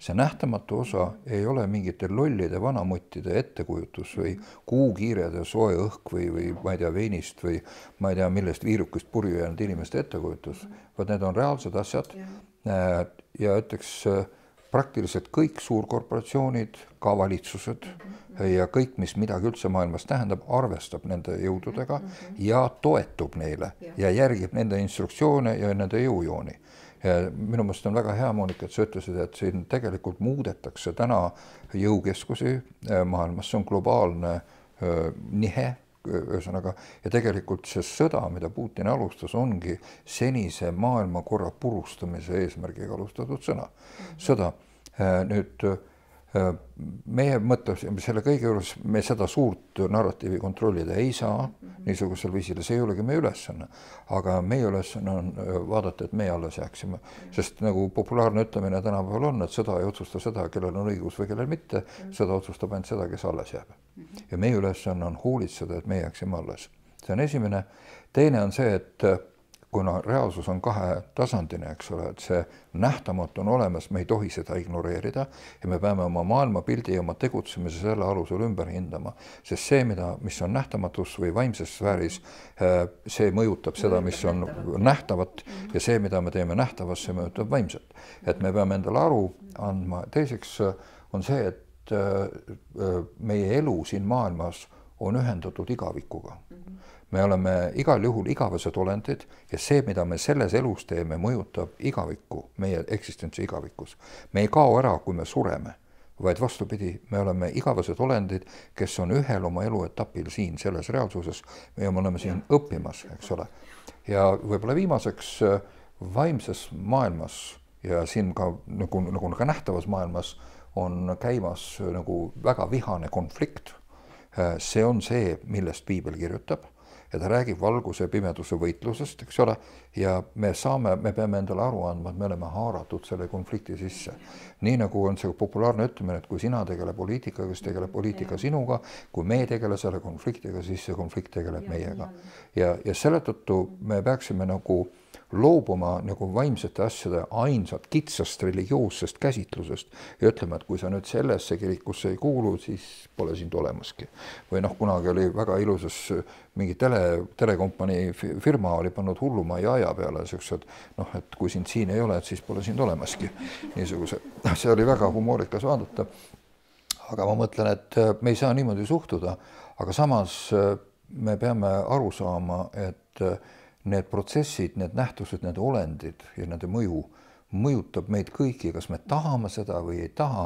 See nähtamatu osa ei ole mingite lollide vanamuttide ettekujutus või kuukiirede soe õhk või, või ma ei tea veinist või ma ei tea millest viirukust purju jäänud inimeste ettekujutus, vaid need on reaalsed asjad ja ütleks praktiliselt kõik suurkorporatsioonid, ka valitsused ja kõik, mis midagi üldse maailmas tähendab, arvestab nende jõududega ja toetub neile ja järgib nende instruktsioone ja nende jõujooni. Ja minu meelest on väga hea, Monika, et sa ütlesid, et siin tegelikult muudetakse täna jõukeskusi maailmas, see on globaalne nihe, ühesõnaga, ja tegelikult see sõda, mida Putin alustas, ongi senise maailmakorra purustamise eesmärgiga alustatud sõna. Sõda. Nüüd meie mõtlesime selle kõige juures, me seda suurt narratiivi kontrollida ei saa niisugusel viisil, see ei olegi meie ülesanne, aga meie ülesanne on vaadata, et meie alles jääksime, sest nagu populaarne ütlemine tänapäeval on, et sõda ei otsusta seda, kellel on õigus või kellel mitte, sõda otsustab ainult seda, kes alles jääb. Ja meie ülesanne on hoolitseda, et me jääksime alles. See on esimene. Teine on see, et kuna reaalsus on kahetasandine, eks ole, et see nähtamatu on olemas, me ei tohi seda ignoreerida ja me peame oma maailmapildi ja oma tegutsemise selle alusel ümber hindama, sest see, mida, mis on nähtamatus või vaimses sfääris, see mõjutab seda, mis on nähtavat ja see, mida me teeme nähtavas, see mõjutab vaimset. Et me peame endale aru andma. Teiseks on see, et meie elu siin maailmas on ühendatud igavikuga. Me oleme igal juhul igavesed olendid ja see, mida me selles elus teeme, mõjutab igavikku, meie eksistentsi igavikus. Me ei kao ära, kui me sureme, vaid vastupidi, me oleme igavesed olendid, kes on ühel oma eluetapil siin selles reaalsuses ja me oleme siin õppimas, eks ole. Ja võib-olla viimaseks vaimses maailmas ja siin ka nagu, nagu ka nähtavas maailmas on käimas nagu väga vihane konflikt. See on see, millest Piibel kirjutab. ja ta räägib valguse ja pimeduse võitlusest, eks ole, ja me saame, me peame endale aru andma, et me oleme haaratud selle konflikti sisse. Nii nagu on see populaarne ütlemine, et kui sina tegele poliitikaga, siis tegeleb poliitika sinuga, kui me tegele selle konfliktiga, siis see konflikt tegeleb meiega. Ja, ja selle tõttu me peaksime nagu loobuma nagu vaimsete asjade ainsat kitsast religioossest käsitlusest ja ütleme, et kui sa nüüd sellesse kirikusse ei kuulu, siis pole sind olemaski. Või noh, kunagi oli väga ilusas mingi tele, telekompanii firma oli pannud hullumaa ja aja peale siuksed, noh, et kui sind siin ei ole, et siis pole sind olemaski. Niisuguse, see oli väga humoorikas vaadata. Aga ma mõtlen, et me ei saa niimoodi suhtuda, aga samas me peame aru saama, et need protsessid, need nähtused, need olendid ja nende mõju mõjutab meid kõiki, kas me tahame seda või ei taha,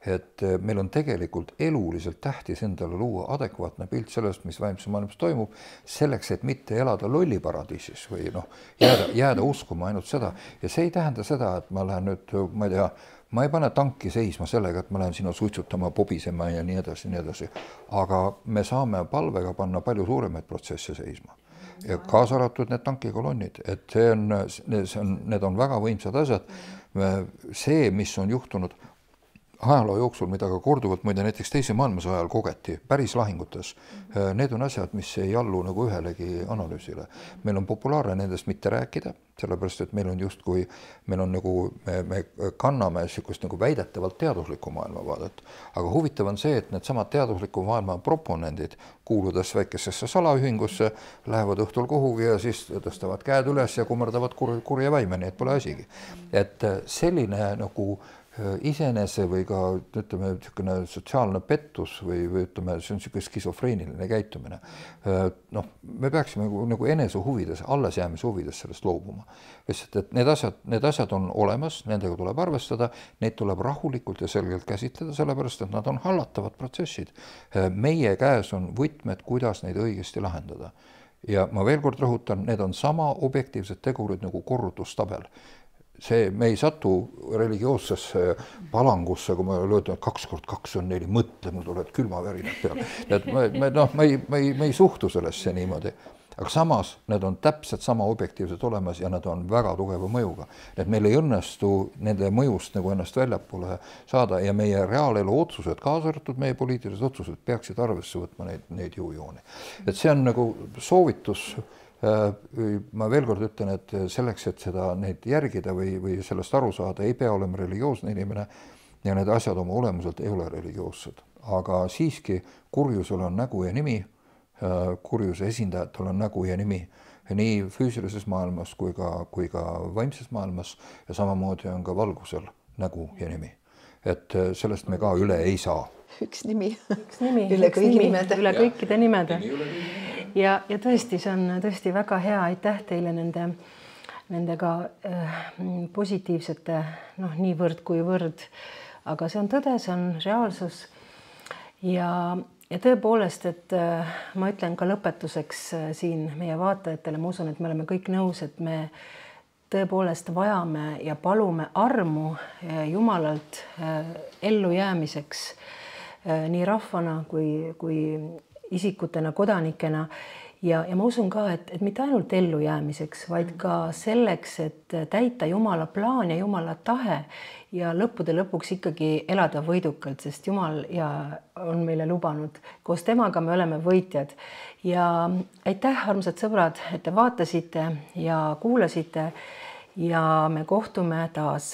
et meil on tegelikult eluliselt tähtis endale luua adekvaatne pilt sellest, mis vaimses maailmas toimub, selleks, et mitte elada lolliparadiisis või noh, jääda, jääda uskuma ainult seda. Ja see ei tähenda seda, et ma lähen nüüd, ma ei tea, ma ei pane tanki seisma sellega, et ma lähen sinna suitsutama, pobisema ja nii edasi, nii edasi. Aga me saame palvega panna palju suuremaid protsesse seisma. Ja kaasa arvatud need tankikolonnid, et see on, see on, need on väga võimsad asjad. See, mis on juhtunud ajaloo jooksul, mida ka korduvalt muide näiteks teise maailmasõja ajal kogeti päris lahingutes, need on asjad, mis ei allu nagu ühelegi analüüsile. Meil on populaarne nendest mitte rääkida, sellepärast et meil on justkui, meil on nagu, me, me kanname sükust nagu väidetavalt teaduslikku maailmavaadet, aga huvitav on see, et need samad teadusliku maailma proponendid, kuuludes väikesesse salaühingusse, lähevad õhtul kuhugi ja siis tõstavad käed üles ja kummardavad kur, kurja vaime, nii et pole asigi. Et selline nagu iseenese või ka ütleme niisugune sotsiaalne pettus või, või ütleme, see on niisugune skisofreeniline käitumine. Noh, me peaksime nagu, nagu enese huvides, allesjäämise huvides sellest loobuma. Sest, et need asjad, need asjad on olemas, nendega tuleb arvestada, neid tuleb rahulikult ja selgelt käsitleda, sellepärast, et nad on hallatavad protsessid. Meie käes on võtmed, kuidas neid õigesti lahendada. Ja ma veel kord rõhutan, need on sama objektiivsed tegurid nagu korrutustabel. See, me ei satu religioossesse palangusse, kui ma löödan, et kaks kord kaks on neli, mõtle, mul tulevad külmavärinad peale. Et me, me, noh, me, ei, me, ei, me ei suhtu sellesse niimoodi. Aga samas need on täpselt sama objektiivselt olemas ja nad on väga tugeva mõjuga. Et meil ei õnnestu nende mõjust nagu ennast väljapoole saada ja meie reaalelu otsused, kaasa arvatud meie poliitilised otsused, peaksid arvesse võtma neid, neid jõujooni. Et see on nagu soovitus. Ma veel kord ütlen, et selleks, et seda neid järgida või, või sellest aru saada, ei pea olema religioosne inimene ja need asjad oma olemuselt ei ole religioossed. Aga siiski kurjusel on nägu ja nimi, kurjuse esindajatel on nägu ja nimi nii füüsilises maailmas kui ka, kui ka vaimses maailmas ja samamoodi on ka valgusel nägu ja nimi. Et sellest me ka üle ei saa. Üks nimi, üks nimi üle, üks kõigi nimi, nimede. üle kõikide nimede. Ja, ja tõesti, see on tõesti väga hea, aitäh teile nende, nendega äh, positiivsete, noh, nii võrd kui võrd, aga see on tõde, see on reaalsus ja, ja tõepoolest, et äh, ma ütlen ka lõpetuseks äh, siin meie vaatajatele, ma usun, et me oleme kõik nõus, et me tõepoolest vajame ja palume armu äh, Jumalalt äh, ellujäämiseks äh, nii rahvana kui, kui isikutena, kodanikena ja, ja ma usun ka, et, et mitte ainult ellujäämiseks, vaid ka selleks, et täita Jumala plaan ja Jumala tahe ja lõppude lõpuks ikkagi elada võidukalt, sest Jumal ja on meile lubanud. Koos temaga me oleme võitjad. Ja aitäh, armsad sõbrad, et te vaatasite ja kuulasite ja me kohtume taas.